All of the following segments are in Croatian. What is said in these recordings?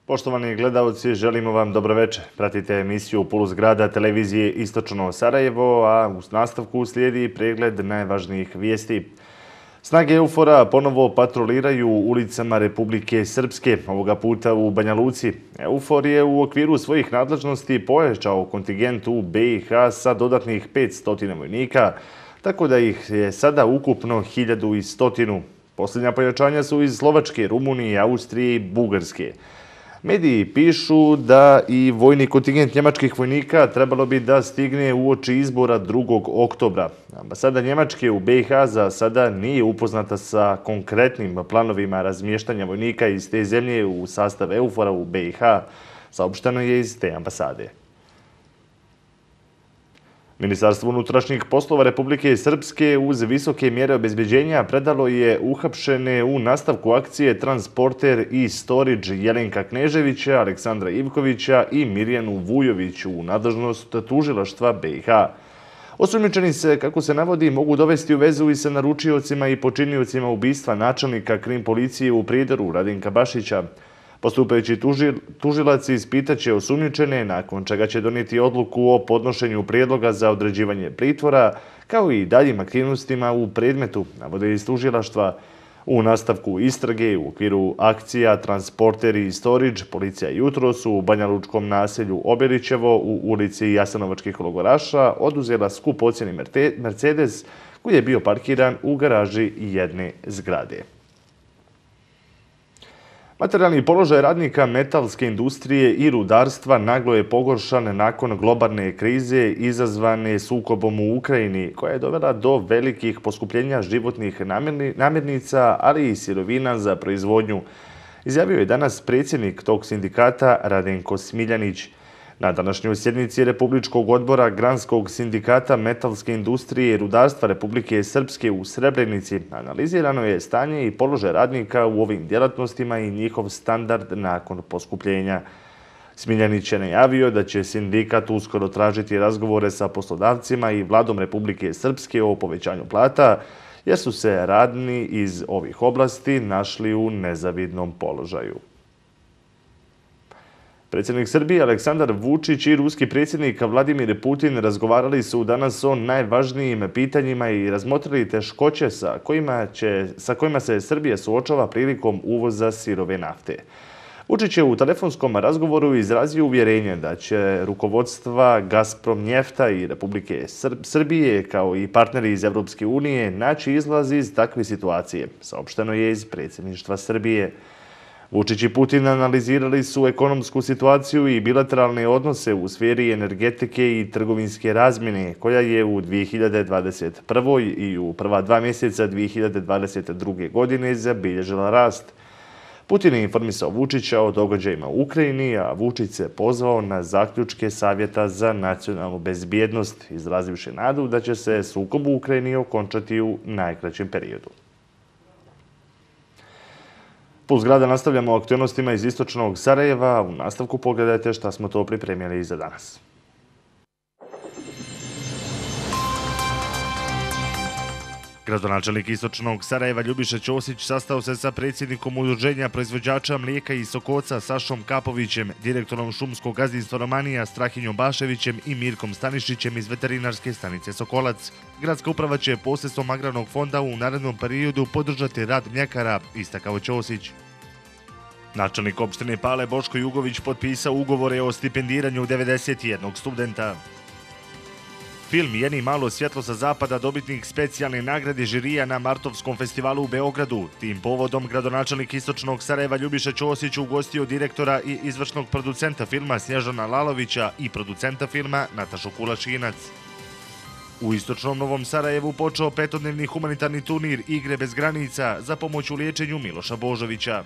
Poštovani gledalci, želimo vam dobro večer. Pratite emisiju Puls grada televizije Istočno Sarajevo, a u nastavku slijedi pregled najvažnijih vijesti. Snage EUFOR-a ponovo patroliraju ulicama Republike Srpske, ovoga puta u Banja Luci. EUFOR je u okviru svojih nadležnosti pojačao kontingent u BiH sa dodatnih 500 vojnika, tako da ih je sada ukupno 1100. Posljednja pojačanja su iz Slovačke, Rumunije, Austrije i Bugarske. Mediji pišu da i vojni kontingent njemačkih vojnika trebalo bi da stigne uoči izbora 2. oktobra. Ambasada Njemačke u BiH za sada nije upoznata sa konkretnim planovima razmještanja vojnika iz te zemlje u sastav EUFOR-a u BiH, saopšteno je iz te ambasade. Ministarstvo unutrašnjih poslova Republike Srpske uz visoke mjere obezbeđenja predalo je uhapšene u nastavku akcije Transporter i Storage Jelenka Kneževića, Aleksandra Ivkovića i Mirjanu Vujović u nadležnost tužilaštva BiH. Osumnjičeni se, kako se navodi, mogu dovesti u vezu i sa naručiocima i počiniocima ubistva načelnika krim policije u Prijedoru Radinka Bašića. Postupajući tužilac ispitaće osumnjičene, nakon čega će donijeti odluku o podnošenju prijedloga za određivanje pritvora, kao i daljim aktivnostima u predmetu, navode iz tužilaštva. U nastavku istrage u okviru akcija Transporter i Storage policija jutros u banjalučkom naselju Oberićevo u ulici Jasenovačkih logoraša oduzela skupocjeni Mercedes koji je bio parkiran u garaži jedne zgrade. Materijalni položaj radnika metalske industrije i rudarstva naglo je pogoršan nakon globalne krize izazvane sukobom u Ukrajini, koja je dovela do velikih poskupljenja životnih namirnica, ali i sirovina za proizvodnju, izjavio je danas predsjednik tog sindikata Radenko Smiljanić. Na današnjoj sjednici Republičkog odbora Granskog sindikata metalske industrije i rudarstva Republike Srpske u Srebrenici analizirano je stanje i položaj radnika u ovim djelatnostima i njihov standard nakon poskupljenja. Smiljanić je najavio da će sindikat uskoro tražiti razgovore sa poslodavcima i vladom Republike Srpske o povećanju plata, jer su se radni iz ovih oblasti našli u nezavidnom položaju. Predsjednik Srbije Aleksandar Vučić i ruski predsjednik Vladimir Putin razgovarali su danas o najvažnijim pitanjima i razmotrili teškoće sa kojima se Srbija suočava prilikom uvoza sirove nafte. Vučić je u telefonskom razgovoru izrazio uvjerenje da će rukovodstva Gazprom Njefta i Republike Srbije, kao i partneri iz Evropske unije, naći izlaz iz takve situacije, saopšteno je iz predsjedništva Srbije. Vučić i Putin analizirali su ekonomsku situaciju i bilateralne odnose u sferi energetike i trgovinske razmjene, koja je u 2021. i u prva 2 mjeseca 2022. godine zabilježila rast. Putin je informisao Vučića o događajima u Ukrajini, a Vučić se pozvao na zaključke Savjeta za nacionalnu bezbjednost, izrazivši nadu da će se sukob u Ukrajini okončati u najkraćem periodu. Puls grada nastavljamo aktualnostima iz istočnog Sarajeva. U nastavku pogledajte šta smo to pripremili za danas. Gradonačelnik istočnog Sarajeva Ljubiša Ćosić sastao se sa predsjednikom Udruženja proizvođača mlijeka i sokoca Sašom Kapovićem, direktorom šumskog gazdinstva Romanija Strahinjom Baševićem i Mirkom Stanišićem iz veterinarske stanice Sokolac. Gradska uprava će posredstvom agrarnog fonda u narednom periodu podržati rad mljekara, istakao Ćosić. Načelnik opštine Pale Boško Jugović potpisao ugovore o stipendiranju 91 studenta. Film Jeni malo svjetlo sa zapada dobitnik specijalne nagrade žirija na Martovskom festivalu u Beogradu. Tim povodom gradonačelnik istočnog Sarajeva Ljubiša Ćosić ugostio direktora i izvršnog producenta filma Snježana Lalovića i producenta filma Natašu Kulašinac. U istočnom Novom Sarajevu počeo 5-dnevni humanitarni turnir Igre bez granica za pomoć u liječenju Miloša Božovića.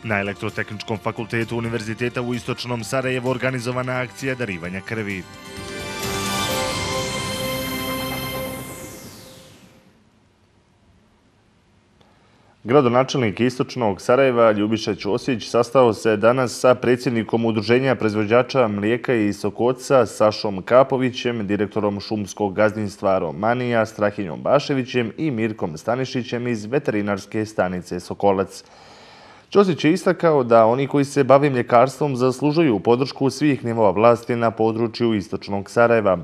Na Elektrotehničkom fakultetu Univerziteta u istočnom Sarajevu organizovana akcija darivanja krvi. Gradonačelnik istočnog Sarajeva Ljubiša Ćosić sastao se danas sa predsjednikom Udruženja proizvođača mlijeka i sokoca Sašom Kapovićem, direktorom šumskog gazdinstva Romanija Strahinjom Baševićem i Mirkom Stanišićem iz veterinarske stanice Sokolac. Ćosić je istakao da oni koji se bave mljekarstvom zaslužuju podršku svih nivoa vlasti na području istočnog Sarajeva.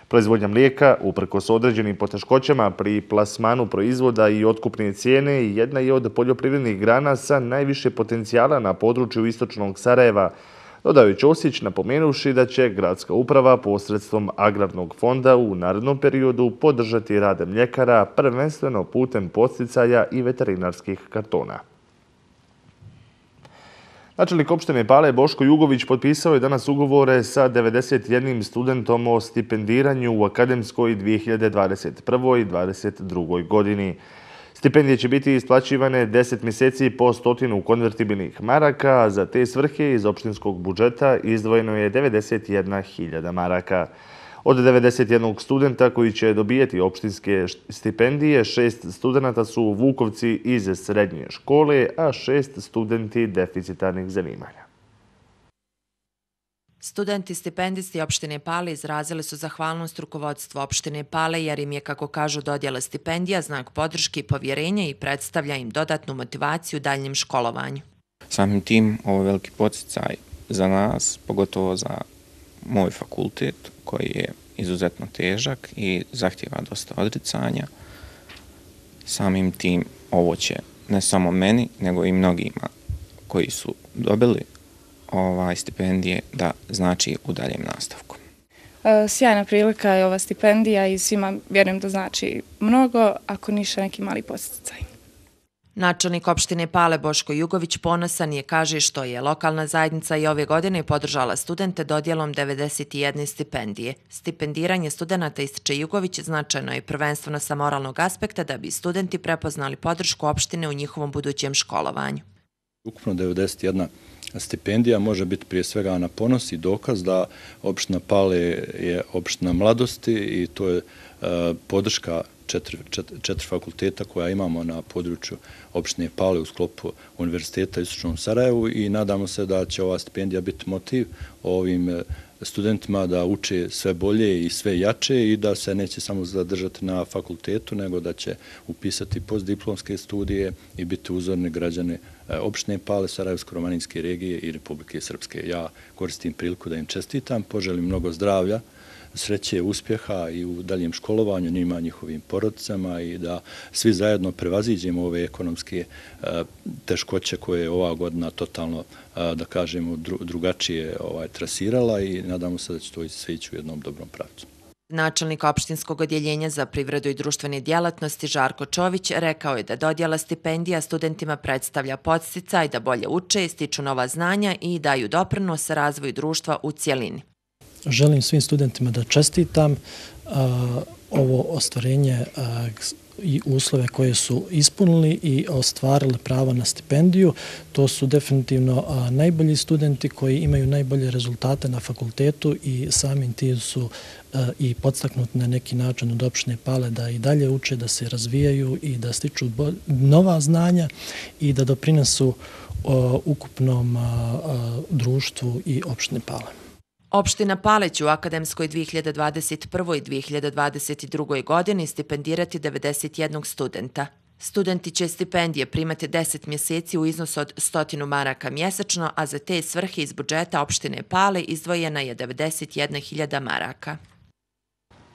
Proizvodnja mlijeka, uprkos određenim poteškoćama pri plasmanu proizvoda i otkupne cijene, jedna je od poljoprivrednih grana sa najviše potencijala na području istočnog Sarajeva, dodao je Ćosić, napomenuvši da će gradska uprava posredstvom agrarnog fonda u narednom periodu podržati rad mljekara, prvenstveno putem podsticaja i veterinarskih kartona. Načelnik opštine Pale Boško Jugović potpisao je danas ugovore sa 91 studentom o stipendiranju u akademskoj 2021. i 2022. godini. Stipendije će biti isplaćivane 10 mjeseci po 100 konvertibilnih maraka, a za te svrhe iz opštinskog budžeta izdvojeno je 91.000 maraka. Od 91 studenta koji će dobijeti opštinske stipendije, 6 studenta su Vukovci iz srednje škole, a 6 studenti deficitarnih zanimanja. Studenti stipendisti opštine Pale izrazili su zahvalnost rukovodstvu opštine Pale jer im je, kako kažu, dodjela stipendija znak podrške i povjerenja i predstavlja im dodatnu motivaciju u daljnjem školovanju. Samim tim ovo je veliki podsticaj za nas, pogotovo za moj fakultet koji je izuzetno težak i zahtjeva dosta odricanja. Samim tim ovo će ne samo meni, nego i mnogima koji su dobili stipendije da znači u daljem nastavku. Sjajna prilika je ova stipendija i svima vjerujem da znači mnogo, ako ništa neki mali podsticaj. Načelnik opštine Pale Boško Jugović ponosan je, kaže, što je lokalna zajednica i ove godine podržala studente dodjelom 91 stipendije. Stipendiranje studenata, ističe Jugović, značajno je prvenstveno sa moralnog aspekta da bi studenti prepoznali podršku opštine u njihovom budućem školovanju. Ukupno 91 stipendija može biti prije svega na ponos i dokaz da opština Pale je opština mladosti i to je podrška četiri fakulteta koja imamo na području opštine Pale u sklopu Univerziteta u Istočnom Sarajevu i nadamo se da će ova stipendija biti motiv ovim studentima da uče sve bolje i sve jače i da se neće samo zadržati na fakultetu, nego da će upisati postdiplomske studije i biti uzorni građani opštine Pale, Sarajevsko-romaninske regije i Republike Srpske. Ja koristim priliku da im čestitam, poželim mnogo zdravlja, sreće, uspjeha i u daljem školovanju njima, njihovim porodicama i da svi zajedno prevaziđemo ove ekonomske teškoće koje je ova godina totalno, da kažemo, drugačije trasirala i nadamo se da će to sve ići u jednom dobrom pravcu. Načelnik opštinskog odjeljenja za privredu i društvene djelatnosti Žarko Čović rekao je da dodjela stipendija studentima predstavlja podsticaj da bolje uče, stiču nova znanja i daju doprinos razvoju društva u cjelini. Želim svim studentima da čestitam ovo ostvarenje i uslove koje su ispunili i ostvarili pravo na stipendiju. To su definitivno najbolji studenti koji imaju najbolje rezultate na fakultetu i samim tim su i podstaknuti na neki način od opštine Pale da i dalje uče, da se razvijaju i da stiču nova znanja i da doprinesu ukupnom društvu i opštine Pale. Opština Pale će u akademskoj 2021. i 2022. godini stipendirati 91 studenta. Studenti će stipendije primati 10 mjeseci u iznosu od 100 maraka mjesečno, a za te svrhe iz budžeta opštine Pale izdvojena je 91.000 maraka.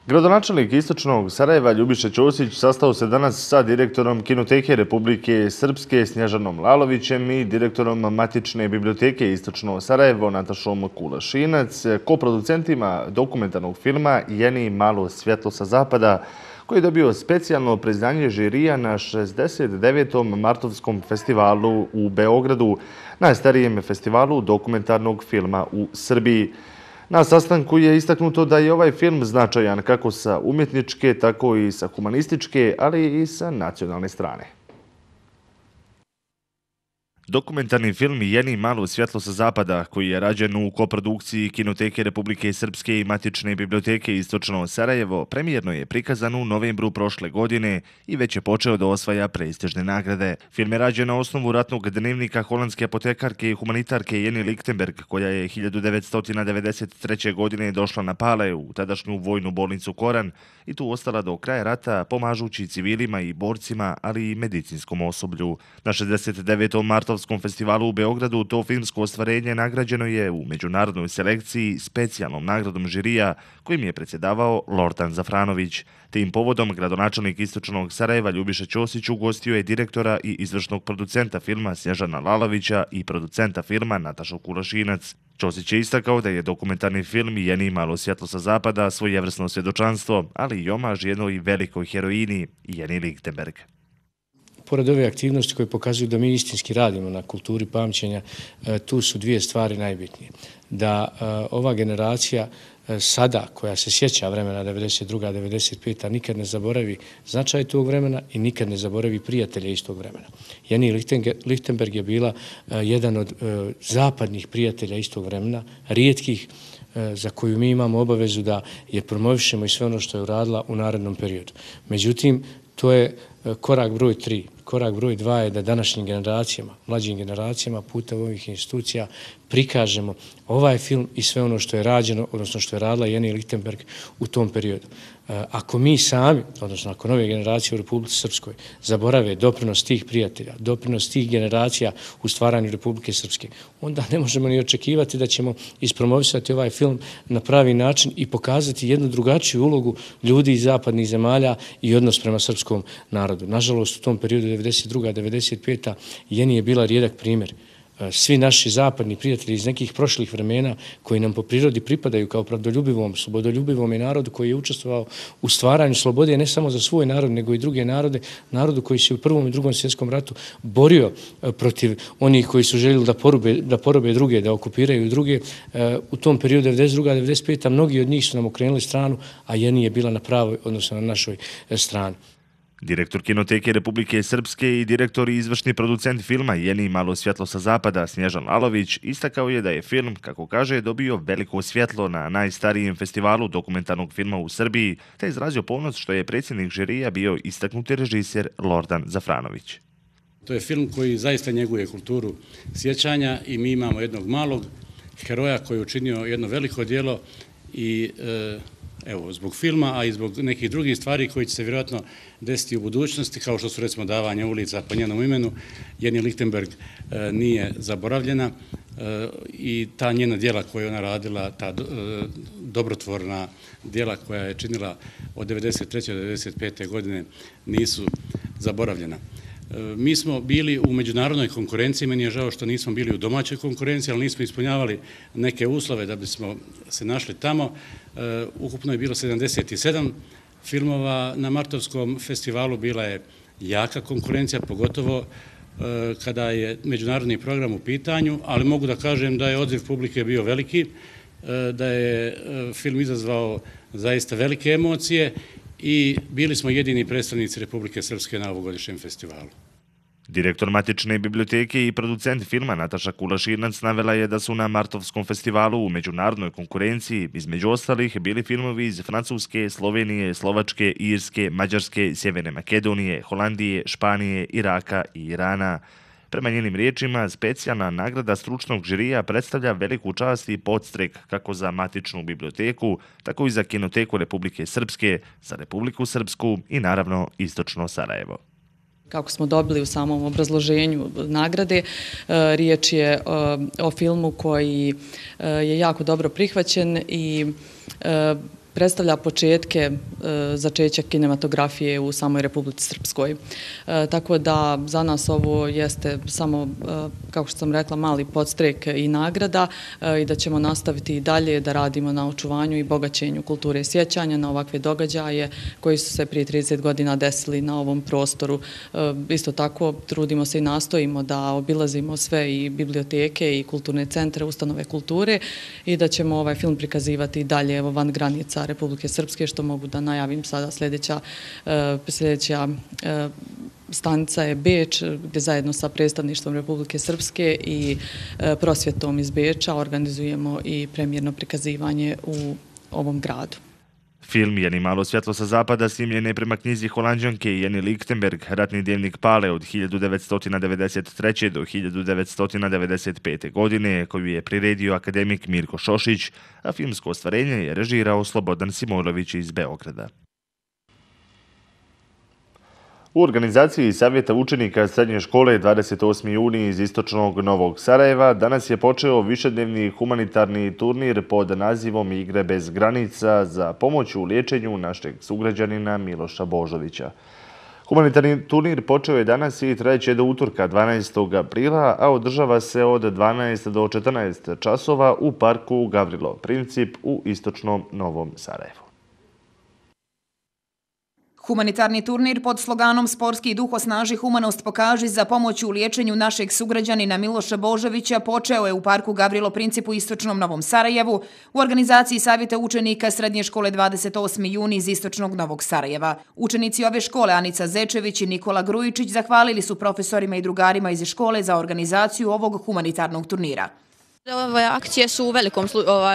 Gradonačelnik Istočnog Sarajeva Ljubiša Ćosić sastao se danas sa direktorom Kinoteke Republike Srpske Snježanom Lalovićem i direktorom Matične biblioteke Istočno Sarajevo Natašom Kulašinac, koproducentima dokumentarnog filma Jeni malo svjetlo sa zapada, koji je dobio specijalno priznanje žirija na 69. Martovskom festivalu u Beogradu, najstarijem festivalu dokumentarnog filma u Srbiji. Na sastanku je istaknuto da je ovaj film značajan kako sa umjetničke, tako i sa humanističke, ali i sa nacionalne strane. Dokumentarni film Jeni malo svjetlo sa zapada, koji je rađen u koprodukciji Kinoteke Republike Srpske i Matične biblioteke Istočno Sarajevo, premijerno je prikazan u novembru prošle godine i već je počeo da osvaja prestižne nagrade. Film je rađen na osnovu ratnog dnevnika holandske apotekarke i humanitarke Jeni Lichtenberg, koja je 1993. godine došla na Pale u tadašnju vojnu bolnicu Koran i tu ostala do kraja rata, pomažući civilima i borcima, ali i medicinskom osoblju. Na 69. martovskom Martovskom festivalu u Beogradu to filmsko ostvarenje nagrađeno je u međunarodnoj selekciji specijalnom nagradom žirija kojim je predsjedavao Lordan Zafranović. Tim povodom gradonačelnik Istočnog Sarajeva Ljubiša Ćosić ugostio je direktora i izvršnog producenta filma Snježana Lalovića i producenta filma Natašu Kulašinac. Ćosić je istakao da je dokumentarni film Jeni malo svjetlo sa zapada svojevrsno svjedočanstvo, ali i omaž jednoj velikoj heroini Jeni Lichtenberg. Pored ove aktivnosti koje pokazuju da mi istinski radimo na kulturi pamćenja, tu su dvije stvari najbitnije. Da ova generacija sada, koja se sjeća vremena 92. 95. nikad ne zaboravi značaj tog vremena i nikad ne zaboravi prijatelja iz tog vremena. Jeni Lichtenberg je bila jedan od zapadnih prijatelja iz tog vremena, rijetkih, za koju mi imamo obavezu da je promovišemo i sve ono što je uradila u narednom periodu. Međutim, to je korak broj 3. Korak broj 2 je da današnjim generacijama, mlađim generacijama putem ovih institucija prikažemo ovaj film i sve ono što je rađeno, odnosno što je radila Jeni Lichtenberg u tom periodu. Ako mi sami, odnosno ako nove generacije u Republici Srpskoj zaborave doprinos tih prijatelja, doprinos tih generacija u stvaranju Republike Srpske, onda ne možemo ni očekivati da ćemo ispromovisati ovaj film na pravi način i pokazati jednu drugačiju ulogu ljudi iz zapadnih zemalja i odnos prema srpskom narodu. Nažalost, u tom periodu 92. 95. Jeni je bila rijedak primjer. Svi naši zapadni prijatelji iz nekih prošlih vremena koji nam po prirodi pripadaju kao pravdoljubivom, slobodoljubivom i narodu koji je učestvovao u stvaranju slobode ne samo za svoj narod, nego i druge narode, narodu koji se u Prvom i Drugom svjetskom ratu borio protiv onih koji su željeli da porobe druge, da okupiraju druge. U tom periodu 92. 95. mnogi od njih su nam okrenuli stranu, a Jeni je bila na pravoj, odnosno na našoj strani. Direktor Kinoteke Republike Srpske i direktor i izvršni producent filma Jeni malo svjetlo sa zapada Snježan Lalović istakao je da je film, kako kaže, dobio veliko svjetlo na najstarijem festivalu dokumentarnog filma u Srbiji, te izrazio ponos što je predsjednik žirija bio istaknuti režiser Lordan Zafranović. To je film koji zaista njeguje kulturu sjećanja i mi imamo jednog malog heroja koji je učinio jedno veliko djelo i evo, zbog filma, a i zbog nekih drugih stvari koji će se vjerojatno desiti u budućnosti, kao što su recimo davanje ulica po njenom imenu, Jeni Lichtenberg nije zaboravljena i ta njena djela koja je ona radila, ta dobrotvorna djela koja je činila od 93. do 95. godine nisu zaboravljena. Mi smo bili u međunarodnoj konkurenciji, meni je žao što nismo bili u domaćoj konkurenciji, ali nismo ispunjavali neke uslove da bismo se našli tamo. Ukupno je bilo 77 filmova na Martovskom festivalu, bila je jaka konkurencija, pogotovo kada je međunarodni program u pitanju, ali mogu da kažem da je odziv publike bio veliki, da je film izazvao zaista velike emocije i bili smo jedini predstavnici Republike Srpske na ovogodišnjem festivalu. Direktor Matične biblioteke i producent filma Nataša Kulašinac navela je da su na Martovskom festivalu u međunarodnoj konkurenciji između ostalih bili filmovi iz Francuske, Slovenije, Slovačke, Irske, Mađarske, Sjeverne Makedonije, Holandije, Španije, Iraka i Irana. Prema njenim riječima, specijalna nagrada stručnog žirija predstavlja veliku čast i podstrek kako za Matičnu biblioteku, tako i za Kinoteku Republike Srpske, za Republiku Srpsku i naravno Istočno Sarajevo. Kako smo dobili u samom obrazloženju nagrade, riječ je o filmu koji je jako dobro prihvaćen i predstavlja početke začeća kinematografije u samoj Republici Srpskoj. Tako da za nas ovo jeste samo, kako što sam rekla, mali podstrek i nagrada i da ćemo nastaviti i dalje da radimo na očuvanju i bogaćenju kulture sjećanja na ovakve događaje koji su se prije 30 godina desili na ovom prostoru. Isto tako trudimo se i nastojimo da obilazimo sve i biblioteke i kulturne centre, ustanove kulture i da ćemo ovaj film prikazivati i dalje van granica Republike Srpske, što mogu da najavim sada. Sljedeća stanica je Beč, gdje zajedno sa predstavništvom Republike Srpske i prosvjetom iz Beča organizujemo i premijerno prikazivanje u ovom gradu. Film Jeni malo svjetlo sa zapada snimljen je prema knjizi Holanđanke Jeni Lichtenberg, ratni dnevnik Pale od 1993. do 1995. godine, koju je priredio akademik Mirko Šošić, a filmsko ostvarenje je režirao Slobodan Simojlović iz Beograda. U organizaciji Savjeta učenika srednje škole 28. juni iz istočnog Novog Sarajeva danas je počeo višednevni humanitarni turnir pod nazivom Igre bez granica za pomoć u liječenju našeg sugrađanina Miloša Božovića. Humanitarni turnir počeo je danas i trajeće do utorka 12. aprila, a održava se od 12 do 14 časova u parku Gavrilo Princip u istočnom Novom Sarajevu. Humanitarni turnir pod sloganom Sportski duh osnaži humanost pokaži za pomoć u liječenju našeg sugrađanina Miloša Božovića počeo je u parku Gavrilo Princip u istočnom Novom Sarajevu u organizaciji Savjeta učenika srednje škole 28. juni iz istočnog Novog Sarajeva. Učenici ove škole Anica Zečević i Nikola Grujičić zahvalili su profesorima i drugarima iz škole za organizaciju ovog humanitarnog turnira. Ove akcije su u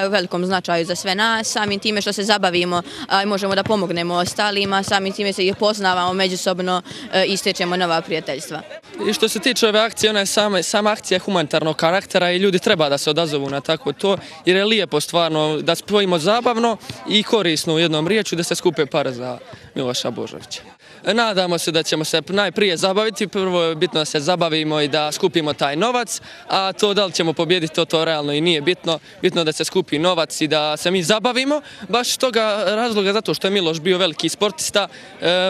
velikom značaju za sve nas, samim time što se zabavimo i možemo da pomognemo ostalima, samim time se ih poznavamo međusobno i stječemo nova prijateljstva. I što se tiče ove akcije, ona je sama akcija humanitarnog karaktera i ljudi treba da se odazovu na takvo to, jer je lijepo stvarno da spojimo zabavno i korisno u jednom riječu da se skupe pare za Miloša Božovića. Nadamo se da ćemo se najprije zabaviti, prvo je bitno da se zabavimo i da skupimo taj novac, a to da li ćemo pobijediti, to realno i nije bitno. Bitno da se skupi novac i da se mi zabavimo, baš toga razloga zato što je Miloš bio veliki sportista,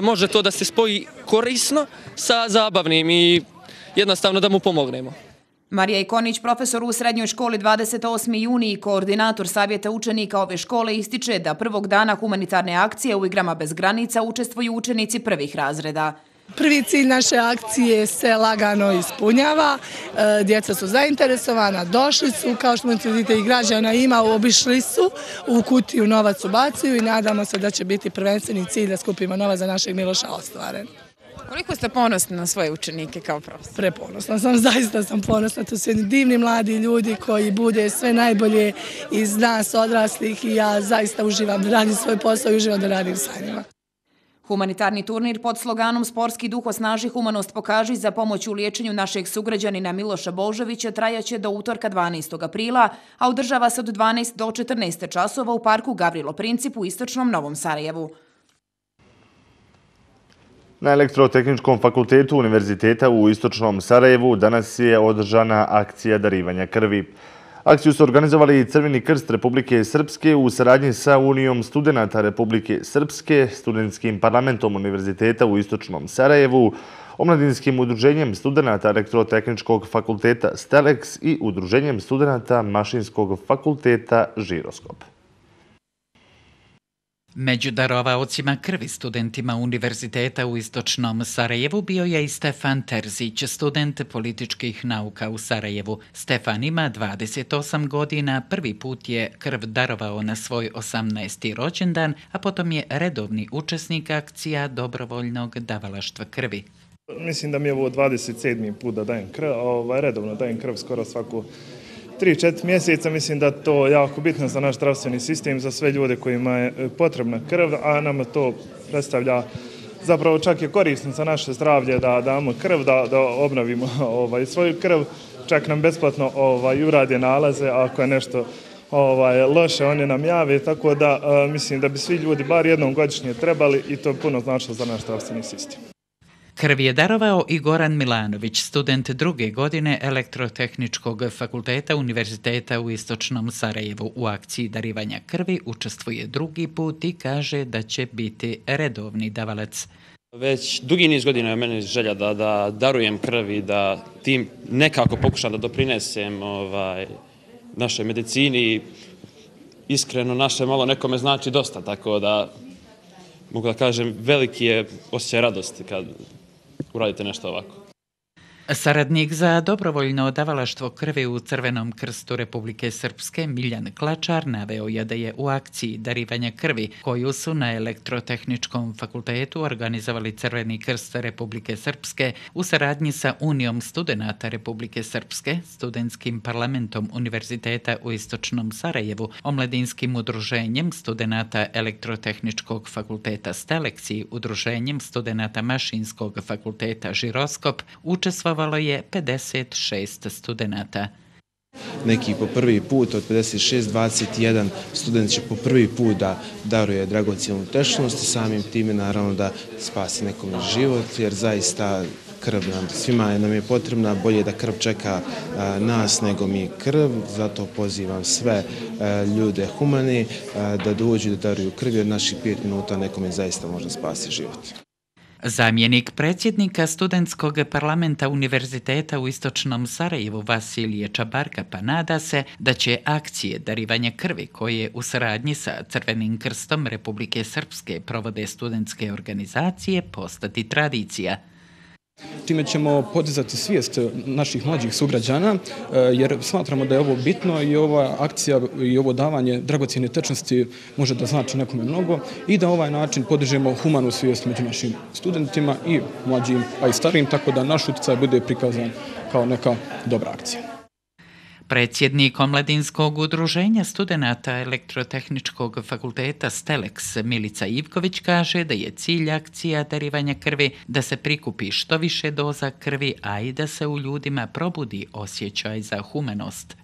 može to da se spoji korisno sa zabavnim i jednostavno da mu pomognemo. Marija Ikonić, profesor u srednjoj školi 28. juni i koordinator Savjeta učenika ove škole, ističe da prvog dana humanitarne akcije u Igrama bez granica učestvuju učenici prvih razreda. Prvi cilj naše akcije se lagano ispunjava, djeca su zainteresovana, došli su, kao što vidite i građana ima, obišli su, u kutiju novac ubacuju i nadamo se da će biti prvenstveni cilj da skupimo novac za našeg Miloša ostvaren. Koliko ste ponosni na svoje učenike kao profesor? Preponosna sam, zaista sam ponosna. To su jedni divni mladi ljudi koji bude sve najbolje iz nas odraslih i ja zaista uživam da radim svoj posao i uživam da radim sa njima. Humanitarni turnir pod sloganom Sportski duh osnaži humanost pokaži za pomoć u liječenju našeg sugrađanina Miloša Božovića trajaće do utorka 12. aprila, a održava se od 12 do 14 časova u parku Gavrilo Princip u istočnom Novom Sarajevu. Na Elektrotehničkom fakultetu Univerziteta u istočnom Sarajevu danas je održana akcija darivanja krvi. Akciju su organizovali Crveni krst Republike Srpske u saradnji sa Unijom studenata Republike Srpske, Studentskim parlamentom Univerziteta u istočnom Sarajevu, Omladinskim udruženjem studenata Elektrotehničkog fakulteta Stelex i Udruženjem studenata Mašinskog fakulteta Žiroskop. Među darovaocima krvi studentima Univerziteta u istočnom Sarajevu bio je i Stefan Terzić, student političkih nauka u Sarajevu. Stefan ima 28 godina, prvi put je krv darovao na svoj 18. rođendan, a potom je redovni učesnik akcija dobrovoljnog davalaštva krvi. Mislim da mi je ovo 27. put da dajem krv, redovno dajem krv skoro svaku 3-4 mjeseca. Mislim da to je jako bitno za naš zdravstveni sistem, za sve ljude kojima je potrebna krv, a nama to predstavlja, zapravo čak je korisno za naše zdravlje da damo krv, da obnovimo svoju krv, čak nam besplatno urade nalaze, ako je nešto loše oni nam jave, tako da mislim da bi svi ljudi bar jednom godišnje trebali i to je puno značilo za naš zdravstveni sistem. Krv je darovao i Goran Milanović, student druge godine Elektrotehničkog fakulteta Univerziteta u istočnom Sarajevu. U akciji darivanja krvi učestvuje drugi put i kaže da će biti redovni davalac. Već dugi niz godina je meni želja da darujem krv i da tim nekako pokušam da doprinesem našoj medicini. Iskreno, naše malo nekome znači dosta, tako da mogu da kažem veliki je osjećaj radosti kad uradite nešto ovako. Saradnik za dobrovoljno davalaštvo krvi u Crvenom krstu Republike Srpske Miljan Klačar naveo je da je u akciji darivanja krvi koju su na Elektrotehničkom fakultetu organizovali Crveni krst Republike Srpske u saradnji sa Unijom studenata Republike Srpske, Studentskim parlamentom Univerziteta u istočnom Sarajevu, Omladinskim udruženjem studenata Elektrotehničkog fakulteta Stelex i Udruženjem studenata Mašinskog fakulteta Žiroskop učestvovalo je 56 studenata. Neki po prvi put od 56-21 student će po prvi put da daruje dragocjenu tečnost i samim time naravno da spasi nekom život, jer zaista krv svima nam je potrebna, bolje da krv čeka nas nego mi krv, zato pozivam sve ljude humani da dođu da daruju krv, jer naših 5 minuta nekome zaista može spasiti život. Zamjenik predsjednika studentskog parlamenta Univerziteta u Istočnom Sarajevu Vasilije Čabarka pa nada se da će akcije darivanja krvi koje u saradnji sa Crvenim krstom Republike Srpske provode studentske organizacije postati tradicija. Time ćemo podizati svijest naših mlađih sugrađana, jer smatramo da je ovo bitno i ova akcija i ovo davanje dragocjene tečnosti može da znači nekome mnogo i da ovaj način podižemo humanu svijest među našim studentima i mlađim, a i starijim, tako da naš utjecaj bude prikazan kao neka dobra akcija. Predsjednik Omladinskog udruženja studenata Elektrotehničkog fakulteta STELEX Milica Ivković kaže da je cilj akcija darivanja krvi da se prikupi što više doza krvi, a i da se u ljudima probudi osjećaj za humanost.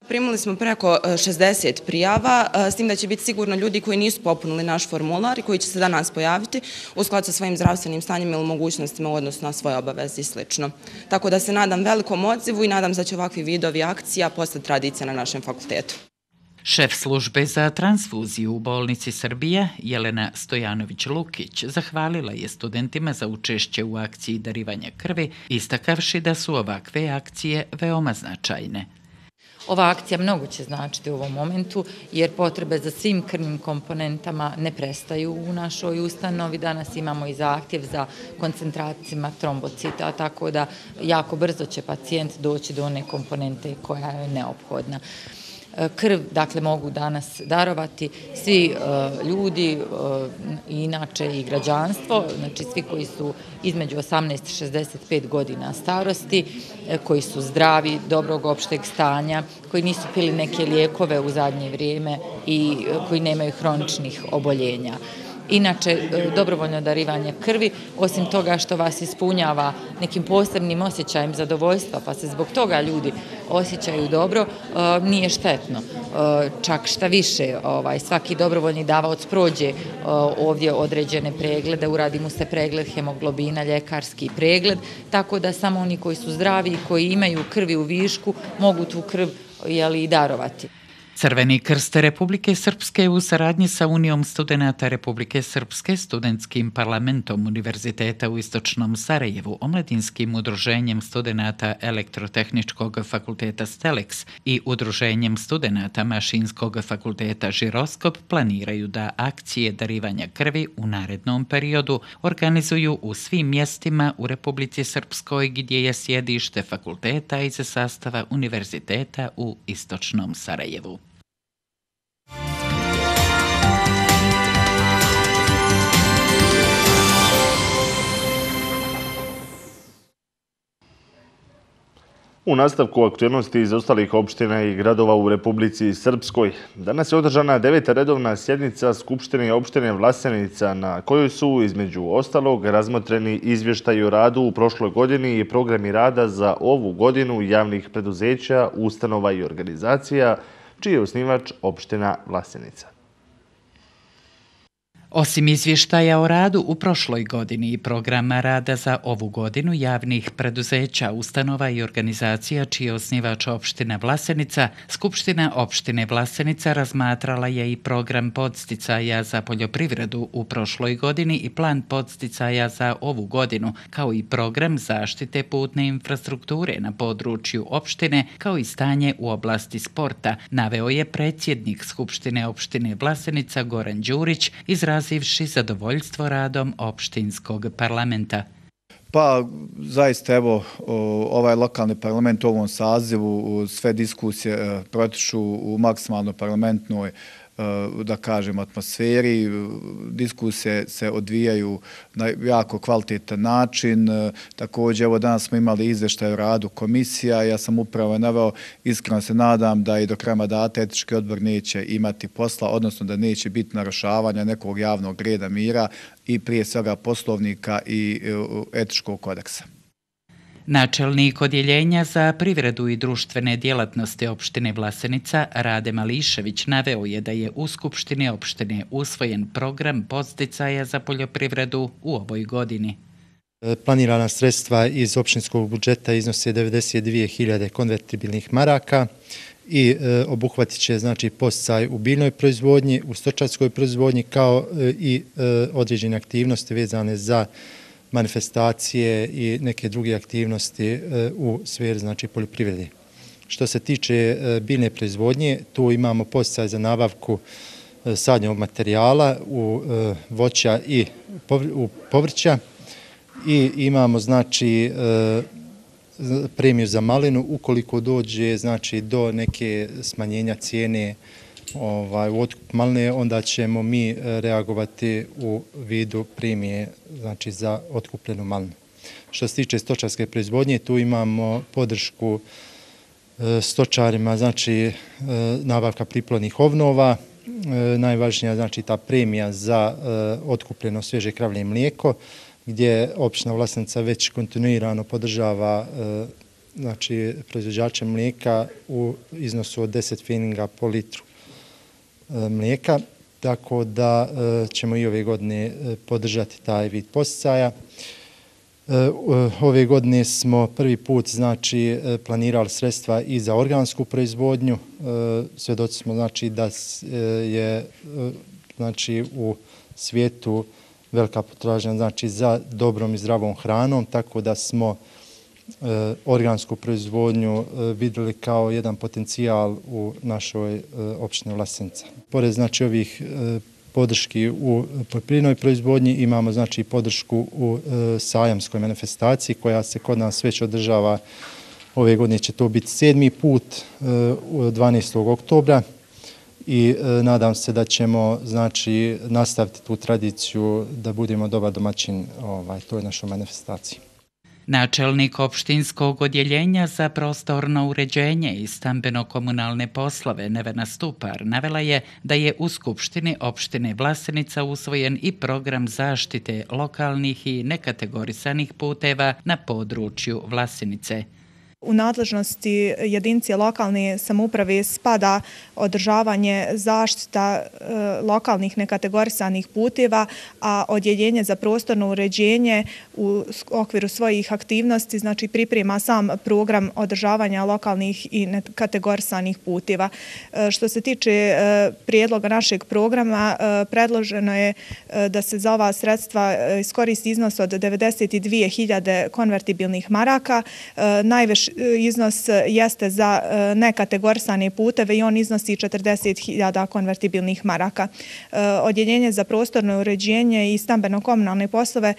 Primili smo preko 60 prijava, s tim da će biti sigurno ljudi koji nisu popunili naš formular i koji će se danas pojaviti u skladu sa svojim zdravstvenim stanjem ili mogućnostima u odnosu na svoje obaveze i sl. Tako da se nadam velikom odzivu i nadam se da će ovakvi vidovi akcija postati tradicija na našem fakultetu. Šef službe za transfuziju u bolnici Srbije, Jelena Stojanović-Lukić, zahvalila je studentima za učešće u akciji darivanja krvi, istakavši da su ovakve akcije veoma značajne. Ova akcija mnogo će značiti u ovom momentu, jer potrebe za svim krvnim komponentama ne prestaju u našoj ustanovi. Danas imamo i zahtjev za koncentracijama trombocita, tako da jako brzo će pacijent doći do one komponente koja je neophodna. Krv, dakle, mogu danas darovati svi ljudi, inače i građanstvo, znači svi koji su između 18 i 65 godina starosti, koji su zdravi, dobrog opšteg stanja, koji nisu pili neke lijekove u zadnje vrijeme i koji nemaju hroničnih oboljenja. Inače, dobrovoljno darivanje krvi, osim toga što vas ispunjava nekim posebnim osjećajem zadovoljstva, pa se zbog toga ljudi osjećaju dobro, nije štetno. Čak šta više, svaki dobrovoljni davaoc prođe ovdje određene preglede, uradi mu se pregled hemoglobina, ljekarski pregled, tako da samo oni koji su zdravi i koji imaju krvi u višku mogu tu krv i darovati. Crveni krst Republike Srpske u saradnji sa Unijom studenata Republike Srpske, studentskim parlamentom Univerziteta u Istočnom Sarajevu, Omladinskim udruženjem studenata Elektrotehničkog fakulteta STELEX i udruženjem studenata Mašinskog fakulteta Žiroskop planiraju da akcije darivanja krvi u narednom periodu organizuju u svim mjestima u Republici Srpskoj gdje je sjedište fakulteta iz sastava Univerziteta u Istočnom Sarajevu. U nastavku aktualnosti iz ostalih opština i gradova u Republici Srpskoj, danas je održana 9. redovna sjednica Skupštine opštine Vlasenica na kojoj su, između ostalog, razmotreni izvještaji o radu u prošloj godini i programi rada za ovu godinu javnih preduzeća, ustanova i organizacija, čiji je osnivač opština Vlasenica. Osim izvještaja o radu u prošloj godini i programa rada za ovu godinu javnih preduzeća, ustanova i organizacija čiji je osnivač opština Vlasenica, Skupština opštine Vlasenica razmatrala je i program podsticaja za poljoprivredu u prošloj godini i plan podsticaja za ovu godinu, kao i program zaštite putne infrastrukture na području opštine, kao i stanje u oblasti sporta, naveo je predsjednik Skupštine opštine Vlasenica Goran Đurić, izrazivši zadovoljstvo radom opštinskog parlamenta. Pa zaista evo ovaj lokalni parlament u ovom sazivu, sve diskusije protiču u maksimalno parlamentnoj da kažem atmosferi, diskusije se odvijaju na jako kvalitetan način. Također evo danas smo imali izvještaj o radu komisija, ja sam upravo naveo, iskreno se nadam da i do kraja mandata etički odbor neće imati posla, odnosno da neće biti narušavanja nekog javnog reda mira i prije svega poslovnika i etičkog kodeksa. Načelnik odjeljenja za privredu i društvene djelatnosti opštine Vlasenica Rade Mališević naveo je da je u Skupštini opštine usvojen program podsticaja za poljoprivredu u ovoj godini. Planirana sredstva iz opštinskog budžeta iznose 92.000 konvertibilnih maraka i obuhvatit će znači podsticaj u biljnoj proizvodnji, u stočarskoj proizvodnji kao i određene aktivnosti vezane za manifestacije i neke druge aktivnosti u sferi znači poljoprivrede. Što se tiče biljne proizvodnje, tu imamo podsticaj za nabavku sadnjeg materijala u voća i u povrća i imamo znači premiju za malinu ukoliko dođe znači do neke smanjenja cijene u otkup maline, onda ćemo mi reagovati u vidu premije znači za otkupljenu malinu. Što se tiče stočarske proizvodnje, tu imamo podršku stočarima, znači nabavka priplodnih ovnova, najvažnija znači ta premija za otkupljeno svježe kravlje mlijeko, gdje opština Vlasenica već kontinuirano podržava znači proizvođače mlijeka u iznosu od 10 pfeninga po litru mlijeka, tako da ćemo i ove godine podržati taj vid podsticaja. Ove godine smo prvi put znači planirali sredstva i za organsku proizvodnju. Svjedoci smo znači da je znači u svijetu velika potražnja znači za dobrom i zdravom hranom, tako da smo organsku proizvodnju vidjeli kao jedan potencijal u našoj opštini Vlasenica. Pored znači ovih podrški u poljoprivrednoj proizvodnji imamo znači podršku u sajamskoj manifestaciji koja se kod nas već održava. Ove godine će to biti 7. put 12. oktobra i nadam se da ćemo znači nastaviti tu tradiciju da budemo dobar domaćin toj našoj manifestaciji. Načelnik opštinskog odjeljenja za prostorno uređenje i stambeno-komunalne poslove Nevena Stupar navela je da je u Skupštini opštine Vlasenica usvojen i program zaštite lokalnih i nekategorisanih puteva na području Vlasenice. U nadležnosti jedinice lokalne samouprave spada održavanje zaštita lokalnih nekategorisanih puteva, a odjeljenje za prostorno uređenje u okviru svojih aktivnosti znači priprema sam program održavanja lokalnih i nekategorisanih puteva. Što se tiče prijedloga našeg programa, predloženo je da se za ova sredstva iskoristi iznos od 92.000 konvertibilnih maraka. Najviše iznos jeste za nekategorisane puteve i on iznosi 40.000 konvertibilnih maraka. Odjeljenje za prostorno uređenje i stambeno-komunalne poslove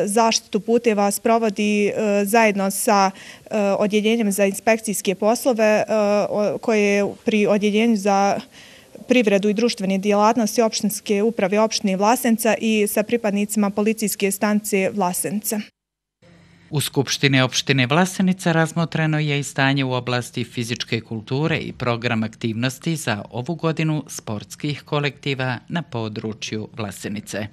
zaštitu puteva sprovodi zajedno sa odjeljenjem za inspekcijske poslove koje je pri odjeljenju za privredu i društvene djelatnosti opštinske uprave opštine Vlasenica i sa pripadnicima policijske stanice Vlasenica. U Skupštini opštine Vlasenica razmotreno je i stanje u oblasti fizičke kulture i program aktivnosti za ovu godinu sportskih kolektiva na području Vlasenice.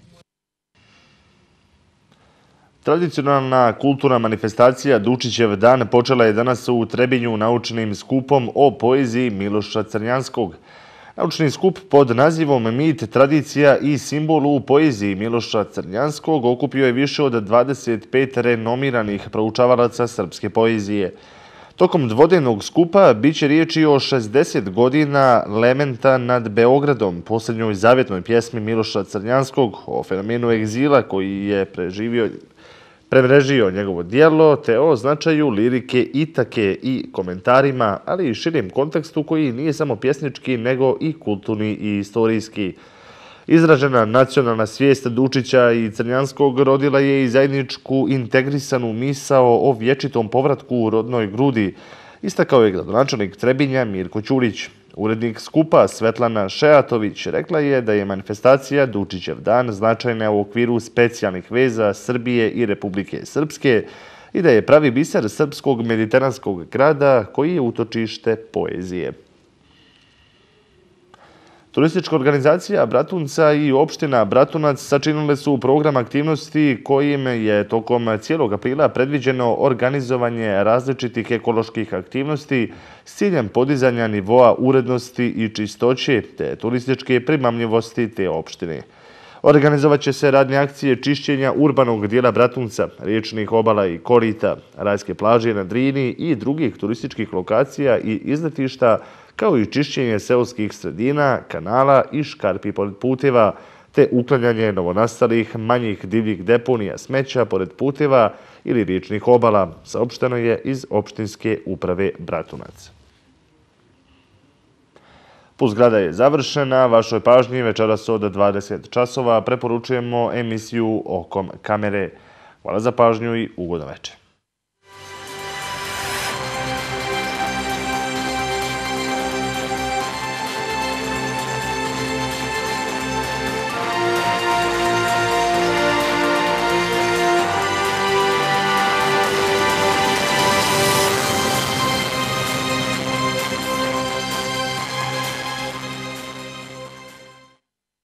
Tradicionalna kulturna manifestacija Dučićev dan počela je danas u Trebinju naučnim skupom o poeziji Miloša Crnjanskog. Naučni skup pod nazivom Mit, tradicija i simbol u poeziji Miloša Crnjanskog okupio je više od 25 renomiranih proučavalaca srpske poezije. Tokom dvodnevnog skupa biće riječi o 60 godina Lementa nad Beogradom, posljednjoj zavjetnoj pjesmi Miloša Crnjanskog, o fenomenu egzila koji je premrežio njegovo dijelo, te o značaju lirike Itake i komentarima, ali i širijem kontekstu koji nije samo pjesnički, nego i kulturni i istorijski. Izražena nacionalna svijest Dučića i Crnjanskog rodila je i zajedničku integrisanu misao o vječitom povratku u rodnoj grudi, istakao je gradonačelnik Trebinja Mirko Ćurić. Urednik skupa Svetlana Šeatović rekla je da je manifestacija Dučićev dan značajna u okviru specijalnih veza Srbije i Republike Srpske i da je pravi biser srpskog mediteranskog grada koji je utočište poezije. Turistička organizacija Bratunca i opština Bratunac sačinile su program aktivnosti kojim je tokom cijelog aprila predviđeno organizovanje različitih ekoloških aktivnosti s ciljem podizanja nivoa urednosti i čistoće te turističke primamljivosti te opštine. Organizovat će se radne akcije čišćenja urbanog dijela Bratunca, riječnih obala i korita, rajske plaže na Drini i drugih turističkih lokacija i izletišta, kao i čišćenje seoskih sredina, kanala i škarpi pored puteva, te uklanjanje novonastalih manjih divljih deponija smeća pored puteva ili riječnih obala, saopšteno je iz opštinske uprave Bratunac. Pulsgrada je završena. Vašoj pažnji večeras od 20 časova preporučujemo emisiju Okom kamere. Hvala za pažnju i ugodan večer.